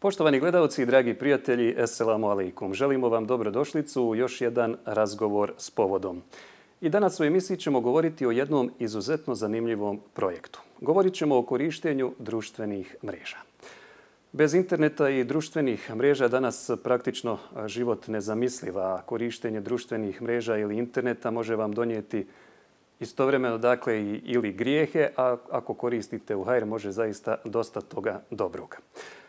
Poštovani gledalci i dragi prijatelji, Esselamu alaikum. Želimo vam dobrodošlicu u još jedan razgovor s povodom. I danas u emisiji ćemo govoriti o jednom izuzetno zanimljivom projektu. Govorit ćemo o korištenju društvenih mreža. Bez interneta i društvenih mreža danas praktično život nezamisliv, a korištenje društvenih mreža ili interneta može vam donijeti istovremeno ili grijehe, a ako koristite u hajr može zaista dosta toga dobroga.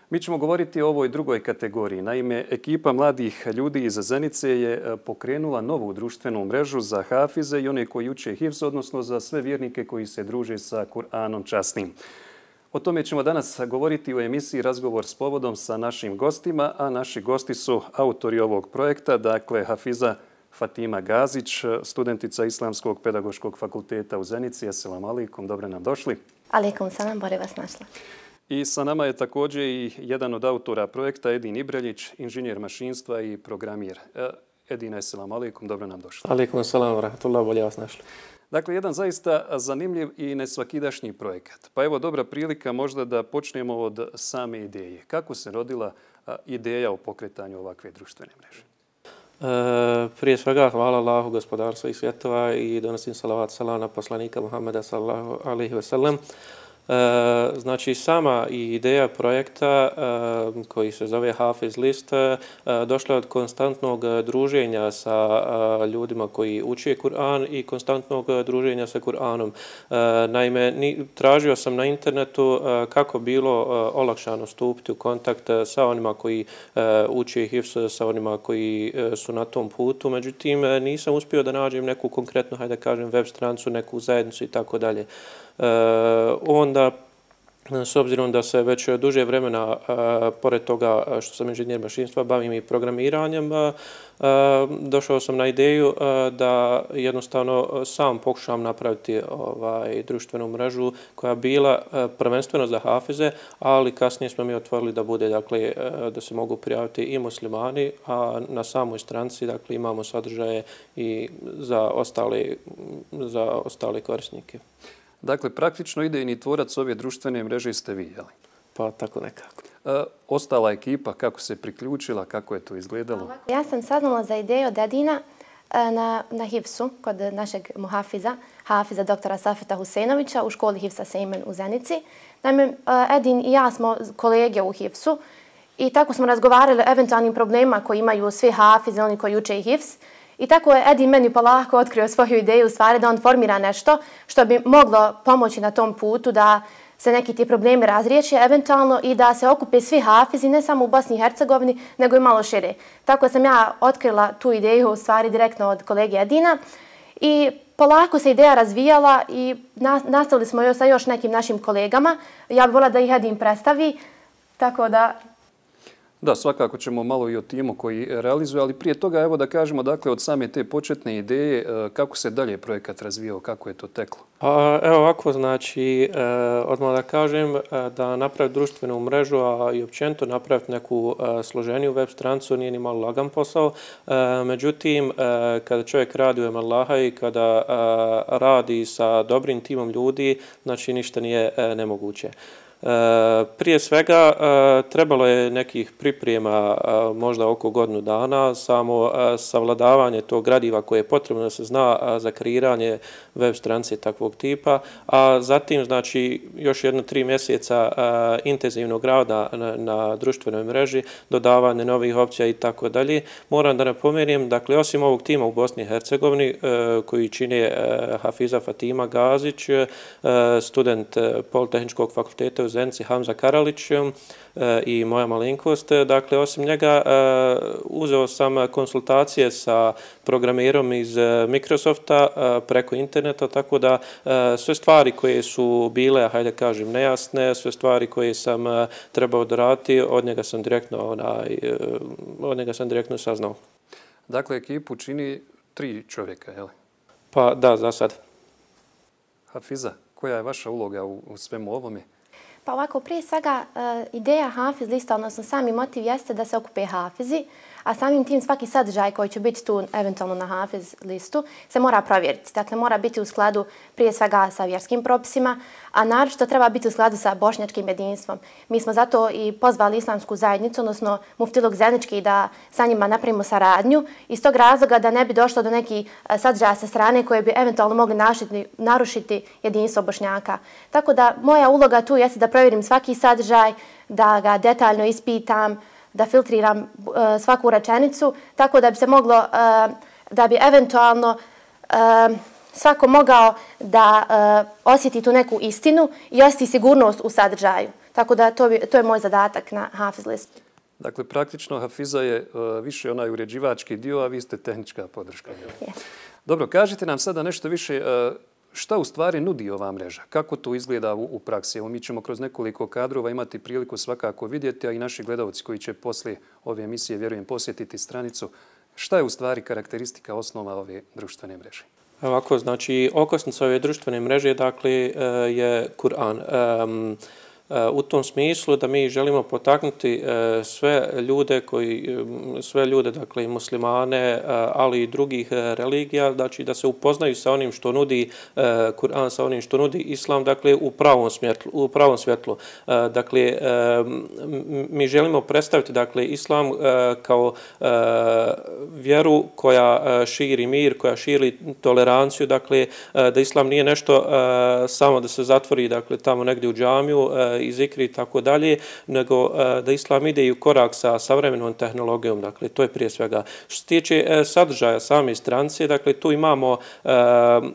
Mi ćemo govoriti o ovoj drugoj kategoriji. Naime, ekipa mladih ljudi iz Zenice je pokrenula novu društvenu mrežu za hafize i one koji uče hifz, odnosno za sve vjernike koji se druže sa Kur'anom časnim. O tome ćemo danas govoriti u emisiji Razgovor s povodom sa našim gostima, a naši gosti su autori ovog projekta, dakle Hafiza Fatima Gazić, studentica Islamskog pedagoškog fakulteta u Zenici. Assalamu alaikum, dobro nam došli. Alaikum salam, bolje vas našla. I sa nama je također i jedan od autora projekta, Edin Ibreljić, inženjer mašinstva i programir. Edin, assalamu alaikum, dobro nam došli. Alaikum salam, wa rahmatullah, bolje vas našli. Dakle, jedan zaista zanimljiv i nesvakidašnji projekat. Pa evo dobra prilika možda da počnemo od same ideje. Kako se rodila ideja o pokretanju ovakve društvene mreže? Prije svega hvala Allahu, gospodaru svih svjetova, i donosim salavat salam na poslanika Muhammeda sallallahu alaihi wa sallam. Znači, sama ideja projekta koji se zove Hafiz List došla od konstantnog druženja sa ljudima koji uče Kur'an i konstantnog druženja sa Kur'anom. Naime, tražio sam na internetu kako bilo olakšano stupiti u kontakt sa onima koji uče hifz, sa onima koji su na tom putu. Međutim, nisam uspio da nađem neku konkretnu, hajde da kažem, web stranicu, neku zajednicu i tako dalje. Onda, s obzirom da se već duže vremena, pored toga što sam inženjer mašinstva, bavim i programiranjem, došao sam na ideju da jednostavno sam pokušam napraviti društvenu mrežu koja bila prvenstveno za hafize, ali kasnije smo mi otvorili da bude, dakle, da se mogu prijaviti i muslimani, a na samoj stranici, dakle, imamo sadržaje i za ostale korisnike. Dakle, praktično idejni tvorac ove društvene mreže ste vi, jel? Pa tako nekako. Ostala ekipa, kako se priključila, kako je to izgledalo? Ja sam saznala za ideju od Edina na hifsu kod našeg hafiza doktora Safeta Husejnovića u školi Hifsa Sejmen u Zenici. Naime, Edin i ja smo kolege u hifsu i tako smo razgovarali o eventualnim problemima koji imaju svi hafize, oni koji uče hifs. I tako je Edin meni polako otkrio svoju ideju, u stvari da on formira nešto što bi moglo pomoći na tom putu da se neki ti problemi razriješe eventualno i da se okupe svi hafizi, ne samo u Bosni i Hercegovini, nego i malo šire. Tako sam ja otkrila tu ideju u stvari direktno od kolege Edina i polako se ideja razvijala i nastavili smo sa još nekim našim kolegama. Ja bih voljela da ih Edin predstavi, tako da... Da, svakako ćemo malo i o timu koji realizuje, ali prije toga evo da kažemo, dakle, od same te početne ideje, kako se dalje projekat razvijao, kako je to teklo? Evo ovako, znači, odmah da kažem da napraviti društvenu mrežu, a i općenito napraviti neku složeniju web stranicu nije ni malo lagan posao. Međutim, kada čovjek radi u ime Allaha i kada radi sa dobrim timom ljudi, znači ništa nije nemoguće. Prije svega trebalo je nekih priprema možda oko godinu dana, samo savladavanje tog gradiva koje je potrebno da se zna za kreiranje web stranice takvog tipa, a zatim znači još 3 mjeseca intenzivnog rada na društvenoj mreži, dodavanje novih opcija i tako dalje. Moram da napomenem, dakle, osim ovog tima u Bosni i Hercegovini koji čine Hafiza Fatima Gazić, student Politehničkog fakulteta u Zenici Hamza Karalić i moja malenkost. Dakle, osim njega uzeo sam konsultacije sa programirom iz Microsofta preko interneta, tako da sve stvari koje su bile, hajde kažem, nejasne, sve stvari koje sam trebao doraditi, od njega sam direktno saznao. Dakle, ekipu čini 3 čovjeka, je li? Pa da, za sad. Hafiza, koja je vaša uloga u svemu ovome? Pa ovako, prije svega, ideja Hafiz lista, odnosno sami motiv jeste da se okupe hafizi, a samim tim svaki sadržaj koji će biti tu eventualno na Hafiz listu se mora provjeriti. Dakle, mora biti u skladu prije svega sa vjerskim propisima, a naročito treba biti u skladu sa bošnjačkim jedinstvom. Mi smo zato i pozvali islamsku zajednicu, odnosno muftiluk Zenički, da sa njima napravimo saradnju iz tog razloga da ne bi došlo do nekih sadržaja sa strane koje bi eventualno mogli narušiti jedinstvo Bošnjaka. Tako da moja uloga tu jeste da provjerim svaki sadržaj, da ga detaljno ispitam, da filtriram svaku rečenicu, tako da bi se moglo, da bi eventualno svako mogao da osjeti tu neku istinu i osjeti sigurnost u sadržaju. Tako da to je moj zadatak na Hafiz listu. Dakle, praktično Hafiza je više onaj uređivački dio, a vi ste tehnička podrška. Yes. Dobro, kažite nam sada nešto više šta u stvari nudi ova mreža? Kako to izgleda u praksi? Evo, mi ćemo kroz nekoliko kadrova imati priliku svakako vidjeti, a i naši gledalci koji će poslije ove emisije, vjerujem, posjetiti stranicu. Šta je u stvari karakteristika osnova ove društvene mreže? Ovako, znači, okosnica ove društvene mreže, dakle, je Kur'an. U tom smislu da mi želimo potaknuti sve ljude, dakle i muslimane, ali i drugih religija, znači da se upoznaju sa onim što nudi Kur'an, sa onim što nudi Islam, dakle u pravom svjetlu. Dakle, mi želimo predstaviti, dakle, Islam kao vjeru koja širi mir, koja širi toleranciju, dakle, da Islam nije nešto samo da se zatvori, dakle, tamo negdje u džamiju, i zikri i tako dalje, nego da Islam ide i u korak sa savremenom tehnologijom, dakle, to je prije svega. Što se tiče sadržaja same stranice, dakle, tu imamo,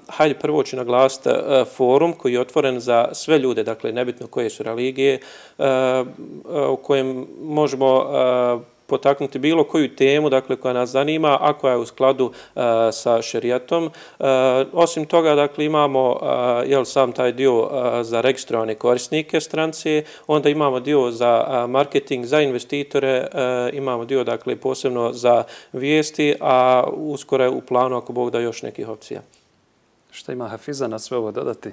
hajde prvo ću naglasiti forum koji je otvoren za sve ljude, dakle, nebitno koje su religije, u kojem možemo potaknuti bilo koju temu, dakle, koja nas zanima, a koja je u skladu sa šerijatom. Osim toga, dakle, imamo sam taj dio za registrovane korisnike stranice, onda imamo dio za marketing, za investitore, imamo dio, dakle, posebno za vijesti, a uskoro je u planu, ako Bog da, još nekih opcija. Šta ima Hafiza na sve ovo dodati?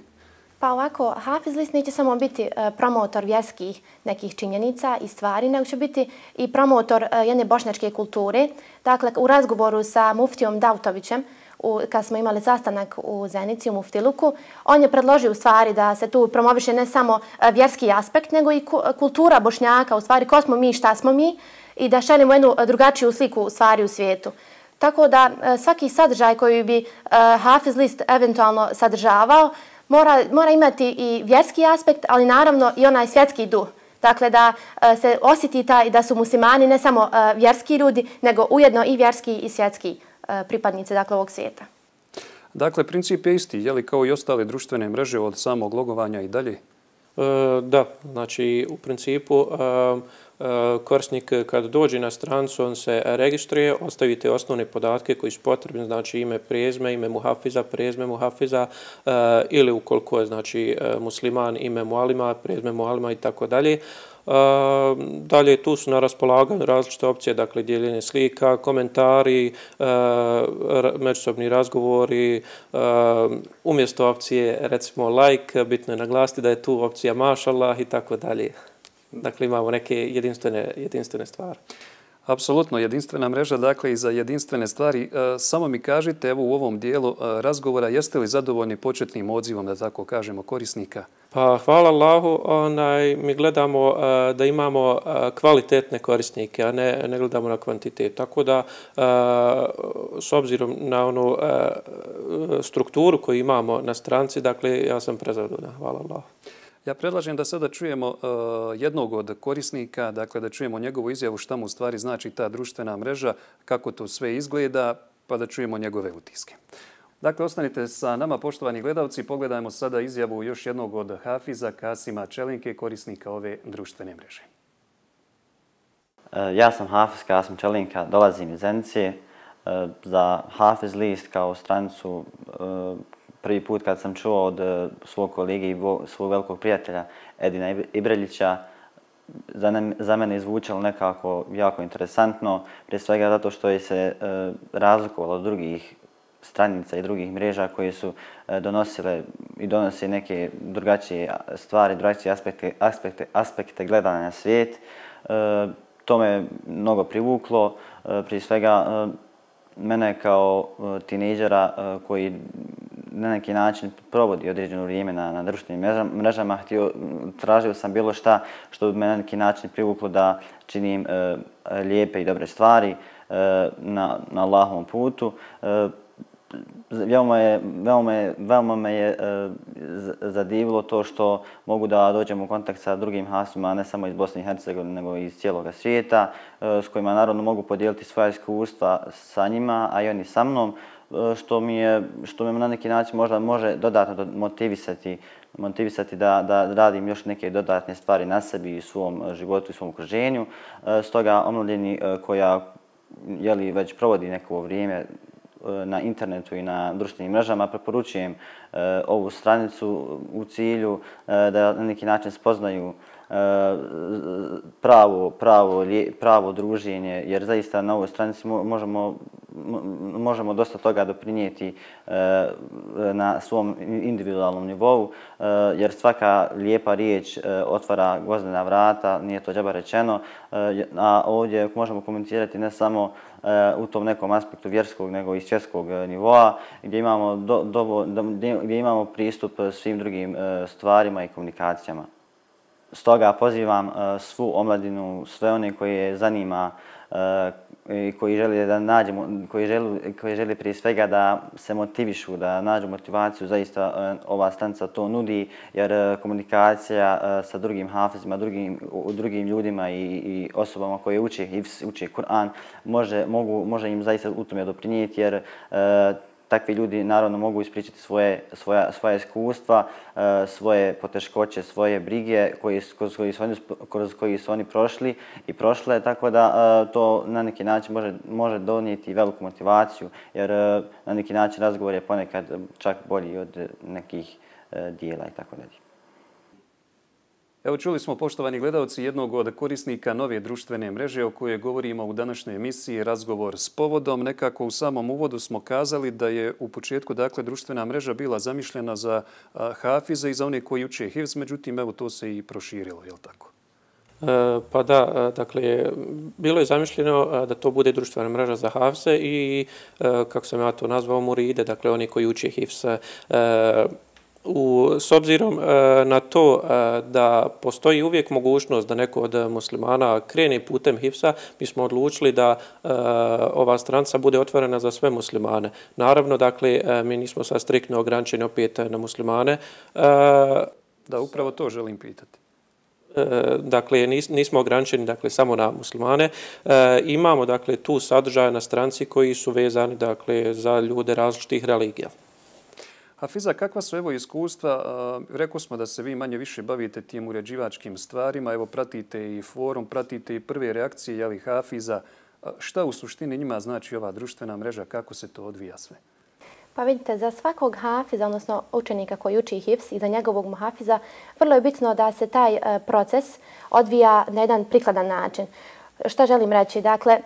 Pa ovako, Hafiz list neće samo biti promotor vjerskih nekih činjenica i stvari, nego će biti i promotor jedne bošnjačke kulture. Dakle, u razgovoru sa muftijom Dautovićem, kad smo imali sastanak u Zenici, u Muftiluku, on je predložio u stvari da se tu promoviše ne samo vjerski aspekt, nego i kultura Bošnjaka, u stvari ko smo mi, šta smo mi, i da šaljemo jednu drugačiju sliku stvari u svijetu. Tako da svaki sadržaj koji bi Hafiz list eventualno sadržavao, mora imati i vjerski aspekt, ali naravno i onaj svjetski duh. Dakle, da se osjeti da su muslimani ne samo vjerski ljudi, nego ujedno i vjerski i svjetski pripadnici, dakle, ovog svijeta. Dakle, princip je isti, je li kao i ostale društvene mreže od samog logovanja i dalje? Da, znači u principu korisnik kad dođe na stranicu, on se registruje, ostavite osnovne podatke koji su potrebni, znači ime, prezime, ime muhafiza, prezime muhafiza, ili ukoliko je, znači, musliman, ime mualima, prezime mualima i tako dalje. Dalje, tu su na raspolaganju različite opcije, dakle, dijeljenje slika, komentari, međusobni razgovori, umjesto opcije, recimo, like, bitno je naglasiti da je tu opcija mašallah i tako dalje. Dakle, imamo neke jedinstvene stvari. Apsolutno, jedinstvena mreža, dakle, i za jedinstvene stvari. Samo mi kažite, evo u ovom dijelu razgovora, jeste li zadovoljni početnim odzivom, da tako kažemo, korisnika? Pa, hvala Allahu, mi gledamo da imamo kvalitetne korisnike, a ne gledamo na kvantitet. Tako da, s obzirom na onu strukturu koju imamo na stranci, dakle, ja sam prezadovoljan. Hvala Allahu. Ja predlažem da sada čujemo jednog od korisnika, dakle da čujemo njegovu izjavu šta mu u stvari znači ta društvena mreža, kako to sve izgleda, pa da čujemo njegove utiske. Dakle, ostanite sa nama, poštovani gledalci, pogledajmo sada izjavu još jednog od Hafiza, Kasima Čelinke, korisnika ove društvene mreže. Ja sam Hafiz Kasim Čelinka, dolazim iz Zenice. Za Hafiz list kao stranicu prvi put kad sam čuo od svog kolege i svog velikog prijatelja Edina Ibreljića, za mene je zvučalo nekako jako interesantno, prije svega zato što je se razlikovalo od drugih stranica i drugih mreža koje su donosile i donose neke drugačije stvari, drugačije aspekte gledanja na svijet. To me mnogo privuklo. Prije svega, mene kao tinejdžera koji na neki način provodi određeno vrijeme na društvenim mrežama, tražio sam bilo šta što bi me na neki način privuklo da činim lijepe i dobre stvari na Allahovom putu. Veoma me je zadivilo to što mogu da dođem u kontakt sa drugim hafizima, ne samo iz Bosne i Hercegovine, nego i iz cijeloga svijeta, s kojima naravno mogu podijeliti svoja iskustva sa njima, a i oni sa mnom, što me na neki način možda može dodatno motivisati da radim još neke dodatne stvari na sebi i svom životu i svom okruženju. Stoga omladini koja već provodi neko vrijeme na internetu i na društvenim mrežama, preporučujem ovu stranicu u cilju da na neki način spoznaju pravo druženje, jer zaista na ovoj stranici možemo dosta toga doprinijeti na svom individualnom nivou, jer svaka lijepa riječ otvara gvozdena vrata, nije to džaba rečeno, a ovdje možemo komunicirati ne samo u tom nekom aspektu vjerskog, nego i svjetskog nivoa, gdje imamo pristup svim drugim stvarima i komunikacijama. Stoga pozivam svu omladinu, sve one koje zanima i koji žele da nađemo, koji žele prije svega da se motivišu, da nađu motivaciju, zaista ova stranica to nudi, jer komunikacija sa drugim hafizima, drugim ljudima i osobama koje uče hifz, uče Kur'an, može im zaista u tome doprinijeti, jer takvi ljudi naravno mogu ispričati svoja iskustva, svoje poteškoće, svoje brige kroz koji su oni prošli i prošle, tako da to na neki način može donijeti veliku motivaciju, jer na neki način razgovor je ponekad čak bolji od nekih dijela i tako dalje. Evo čuli smo, poštovani gledalci, jednog od korisnika nove društvene mreže o kojoj govorimo u današnjoj emisiji Razgovor s povodom. Nekako u samom uvodu smo kazali da je u početku društvena mreža bila zamišljena za hafize i za one koji uče hifz, međutim evo to se i proširilo, je li tako? Pa da, dakle, bilo je zamišljeno da to bude društvena mreža za hafize i, kako sam ja to nazvao, muride, dakle oni koji uče hifz. S obzirom na to da postoji uvijek mogućnost da neko od muslimana krene putem hifza, mi smo odlučili da ova stranica bude otvorena za sve muslimane. Naravno, dakle, mi nismo sad striktno ograničeni opet na muslimane. Da, upravo to želim pitati. Dakle, nismo ograničeni samo na muslimane. Imamo tu sadržaje na stranici koji su vezani za ljude različitih religija. Hafiza, kakva su evo iskustva? Rekao smo da se vi manje više bavite tim uređivačkim stvarima. Evo pratite i forum, pratite i prve reakcije hafiza. Šta u suštini njima znači ova društvena mreža? Kako se to odvija sve? Pa vidite, za svakog hafiza, odnosno učenika koji uči hifz i za njegovog muhafiza, vrlo je bitno da se taj proces odvija na jedan prikladan način. Šta želim reći? Dakle,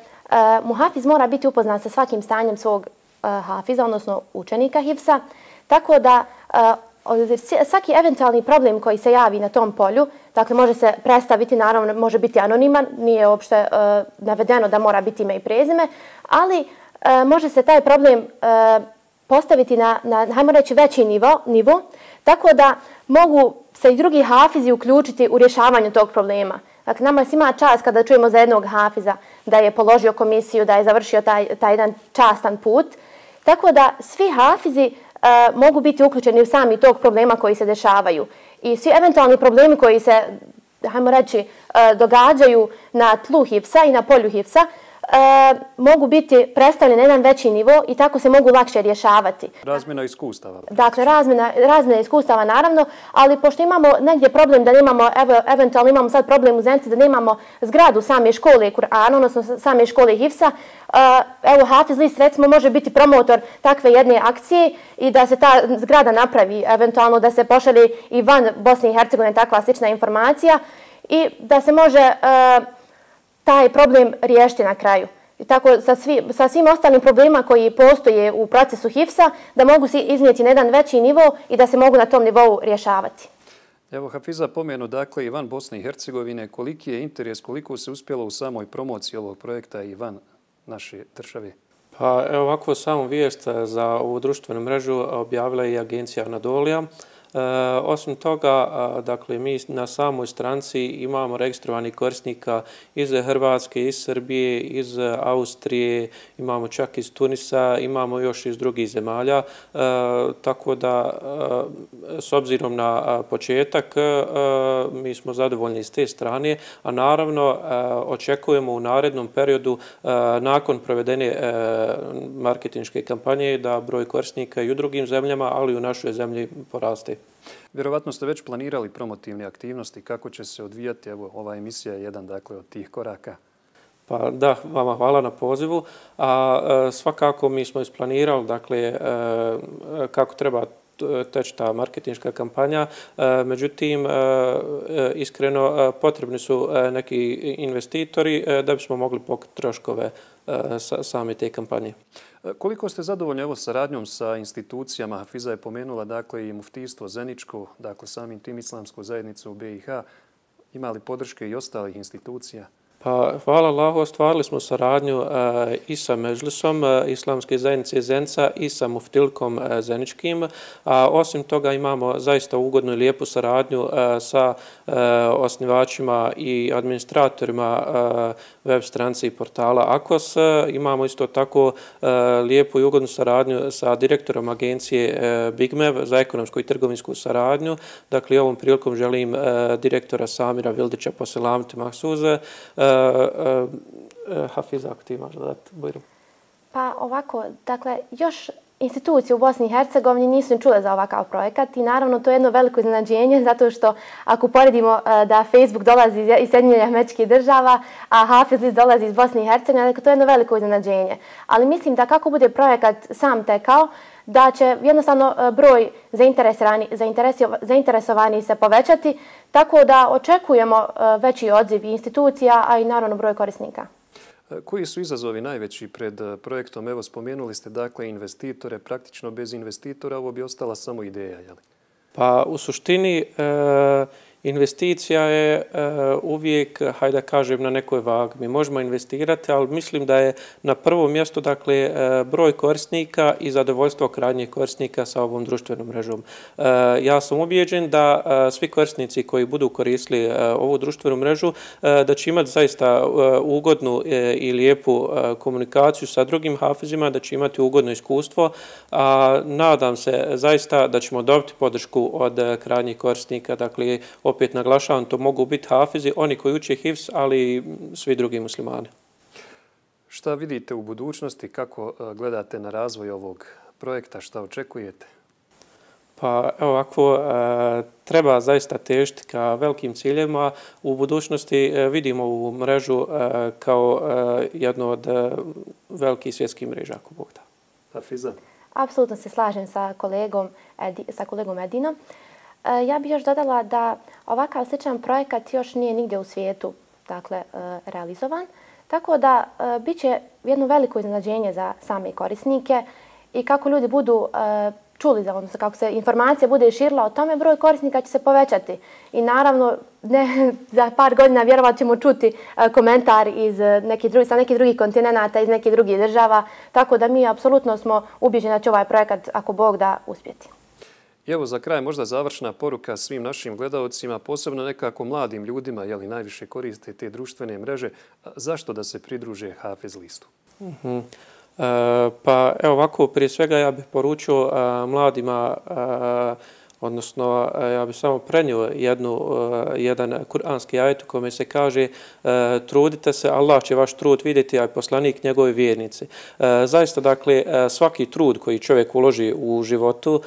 muhafiz mora biti upoznan sa svakim stanjem svog hafiza, odnosno učenika hifza, tako da svaki eventualni problem koji se javi na tom polju, dakle može se predstaviti, naravno može biti anoniman, nije uopšte navedeno da mora biti ime i prezime, ali može se taj problem postaviti na, hajmo reći, veći nivo, tako da mogu se i drugi hafizi uključiti u rješavanju tog problema. Dakle, nama svima čast kada čujemo za jednog hafiza da je položio komisiju, da je završio taj jedan častan put, tako da svi hafizi mogu biti uključeni u sami tog problema koji se dešavaju. I svi eventualni problemi koji se, hajmo reći, događaju na tlu hifsa i na polju hifsa, mogu biti predstavljeni na jedan veći nivo i tako se mogu lakše rješavati. Razmjena iskustava. Dakle, razmjena iskustava naravno, ali pošto imamo negdje problem da nemamo, eventualno imamo sad problem u Zenici da nemamo zgradu same škole Kur'ana, odnosno same škole hifsa, evo Hafiz list recimo može biti promotor takve jedne akcije i da se ta zgrada napravi, eventualno da se pošalje i van Bosne i Hercegovine takva slična informacija i da se može taj problem riješiti na kraju. I tako sa svim ostalim problemima koji postoje u procesu hifsa, da mogu se iznijeti na jedan veći nivo i da se mogu na tom nivou rješavati. Evo, Hafiza, pomenu dakle i van Bosne i Hercegovine, koliki je interes, koliko se uspjelo u samoj promociji ovog projekta i van naše države? Pa evo ovako samu vijest za ovu društvenu mrežu objavila je i agencija Anadolija. Osim toga, dakle, mi na samoj stranci imamo registrovanih korisnika iz Hrvatske, iz Srbije, iz Austrije, imamo čak iz Tunisa, imamo još iz drugih zemalja. Tako da, s obzirom na početak, mi smo zadovoljni s te strane, a naravno očekujemo u narednom periodu, nakon provedene marketinške kampanje, da broj korisnika i u drugim zemljama, ali i u našoj zemlji poraste. Vjerovatno ste već planirali promotivne aktivnosti. Kako će se odvijati? Evo, ova emisija je jedan dakle, od tih koraka. Pa da, vama hvala na pozivu. A svakako mi smo isplanirali dakle, kako treba teći ta marketinška kampanja. Međutim, iskreno potrebni su neki investitori da bismo mogli pokriti troškove same te kampanje. Koliko ste zadovoljni evo saradnjom sa institucijama? Hafiza je pomenula dakle i muftijstvo Zeničko, dakle samim tim islamsku zajednicu u BiH. Ima li podrške i ostalih institucija? Pa, hvala Allahu, ostvarili smo saradnju i sa Međlisom Islamske zajednice Zenca i sa muftilkom Zeničkim. A osim toga imamo zaista ugodnu i lijepu saradnju sa osnivačima i administratorima web stranice i portala Akos. Imamo isto tako lijepu i ugodnu saradnju sa direktorom agencije Bigmev za ekonomsku i trgovinsku saradnju. Dakle, ovom prilikom želim direktora Samira Vildića poselamiti Mahsuze. Hafiza, ako ti imaš dodati, Bujrum. Pa ovako, dakle, još institucije u Bosni i Hercegovini nisu čule za ovakav projekat i naravno to je jedno veliko iznenađenje zato što ako poredimo da Facebook dolazi iz Sjedinjenih Američkih Država, a Hafiz list dolazi iz Bosne i Hercegovine, dakle to je jedno veliko iznenađenje. Ali mislim da kako bude projekat sam tekao, da će jednostavno broj zainteresovani se povećati, tako da očekujemo veći odziv institucija, a i naravno broj korisnika. Koji su izazovi najveći pred projektom? Evo, spomenuli ste dakle investitore, praktično bez investitora ovo bi ostala samo ideja, je li? Pa u suštini investicija je uvijek, hajde da kažem, na nekoj vagi. Mi možemo investirati, ali mislim da je na prvom mjestu dakle, broj korisnika i zadovoljstvo krajnjih korisnika sa ovom društvenom mrežom. Ja sam ubijeđen da svi korisnici koji budu koristili ovu društvenu mrežu da će imati zaista ugodnu i lijepu komunikaciju sa drugim hafizima, da će imati ugodno iskustvo. Nadam se zaista da ćemo dobiti podršku od krajnjih korisnika, dakle, opet naglašavam, to mogu biti hafizi, oni koji uče hifz, ali i svi drugi muslimani. Šta vidite u budućnosti? Kako gledate na razvoj ovog projekta? Šta očekujete? Pa evo ovako, treba zaista težiti ka velikim ciljevima. U budućnosti vidimo ovu mrežu kao jednu od velikih svjetskih mreža, ako Bog da. Hafiza? Apsolutno se slažem sa kolegom Edinom. Ja bih još dodala da ovakav sličan projekat još nije nigdje u svijetu realizovan. Tako da bit će jedno veliko iznenađenje za same korisnike i kako ljudi budu čuli, odnosno kako se informacija bude širila o tome, broj korisnika će se povećati. I naravno, za par godina vjerovat ćemo čuti komentar sa nekih drugih kontinenata, iz nekih drugih država. Tako da mi apsolutno smo ubijeđeni da će ovaj projekat, ako Bog da, uspjeti. I evo za kraj možda završna poruka svim našim gledalcima, posebno nekako mladim ljudima, jeli najviše koriste te društvene mreže. Zašto da se pridruže Hafiz listu? Pa evo ovako, prije svega ja bih poručio mladima, odnosno ja bih samo prenio jedan kuranski ajet u kome se kaže trudite se, Allah će vaš trud vidjeti, a poslanik njegove vjernici. Zaista, dakle, svaki trud koji čovjek uloži u životu,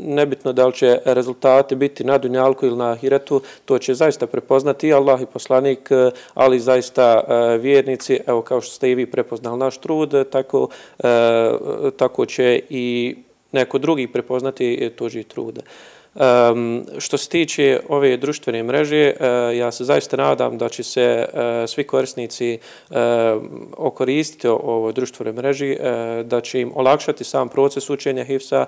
nebitno da li će rezultati biti na dunjalku ili na ahiretu, to će zaista prepoznati i Allah i poslanik, ali zaista vjernici, evo kao što ste i vi prepoznali naš trud, tako će i neko drugi prepoznati tuđi trud. Što se tiče ove društvene mreže, ja se zaista nadam da će se svi korisnici okoristiti o ovoj društvenoj mreži, da će im olakšati sam proces učenja hifza,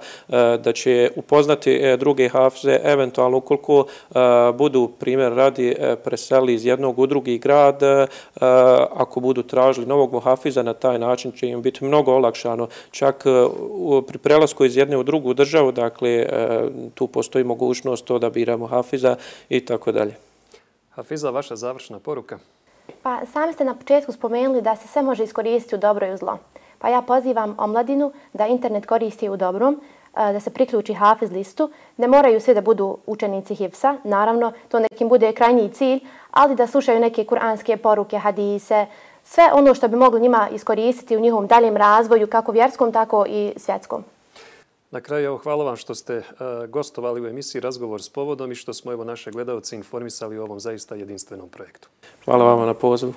da će upoznati druge hafize, eventualno ukoliko budu, primjer radi, preseli iz jednog u drugi grad, ako budu tražili novog muhafiza, na taj način će im biti mnogo olakšano. Čak pri prelasku iz jedne u drugu državu, dakle, tu postoji mogućnost to da biramo hafiza i tako dalje. Hafiza, vaša završna poruka? Pa sami ste na početku spomenuli da se sve može iskoristiti u dobro i u zlo. Pa ja pozivam omladinu da internet koristi u dobrom, da se priključi hafiz listu. Ne moraju svi da budu učenici hifsa, naravno, to nekim bude krajnji cilj, ali da slušaju neke kuranske poruke, hadise, sve ono što bi moglo njima iskoristiti u njihovom daljem razvoju, kako vjerskom, tako i svjetskom. Na kraju, evo, hvala vam što ste gostovali u emisiji Razgovor s povodom i što smo evo naše gledalce informisali o ovom zaista jedinstvenom projektu. Hvala vama na pozivu.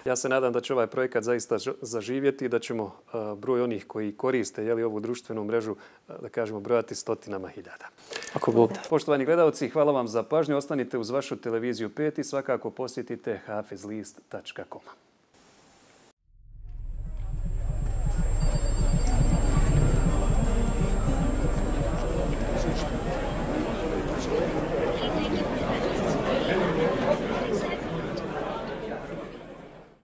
Ja se nadam da će ovaj projekat zaista zaživjeti i da ćemo broj onih koji koriste ovu društvenu mrežu, da kažemo, brojati stotinama hiljada. Ako Bog da. Poštovani gledalci, hvala vam za pažnju. Ostanite uz vašu televiziju 5 i svakako posjetite hafizlist.com.